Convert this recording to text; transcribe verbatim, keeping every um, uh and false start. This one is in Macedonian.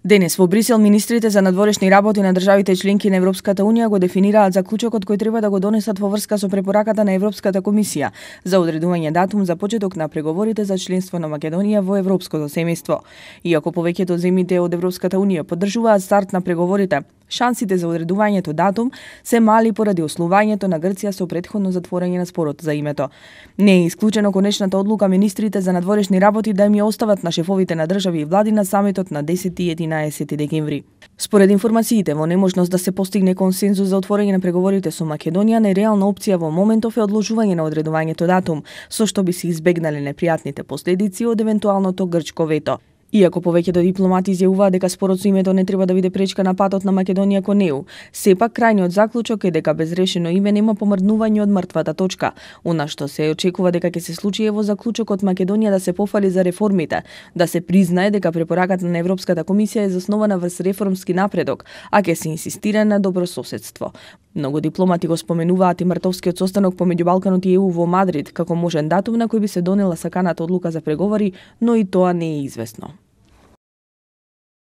Денес во Брисел министрите за надворешни работи на државите членки на Европската унија го дефинираат заклучокот кој треба да го донесат во врска со препораката на Европската комисија за одредување датум за почеток на преговорите за членство на Македонија во европското семејство. Иако повеќето земјите од Европската унија поддржуваат старт на преговорите, шансите за одредувањето датум се мали поради ослувањето на Грција со претходно затворање на спорот за името. Не е исклучено конечната одлука министрите за надворешни работи да им ја остават на шефовите на држави и влади на самитот на десети и единаесети декември. Според информациите, во немошност да се постигне консензус за отворање на преговорите со Македонија, нереална опција во моментов е одложување на одредувањето датум, со што би се избегнале непријатните последици од евентуалното грчко вето. Иако повеќето дипломати изјавуваат дека спорот со името не треба да биде пречка на патот на Македонија кон е у, сепак крајниот заклучок е дека без решено име нема помрднување од мртвата точка. Она што се очекува дека ќе се случи е во заклучокот Македонија да се пофали за реформите, да се признае дека препораката на Европската комисија е заснована врз реформски напредок, а ќе се инсистира на добрососедство. Многу дипломати го споменуваат и мртовскиот состанок помеѓу Балканот и е у во Мадрид како можен датум на кој би се донела саканата одлука за преговори, но и тоа не е известно.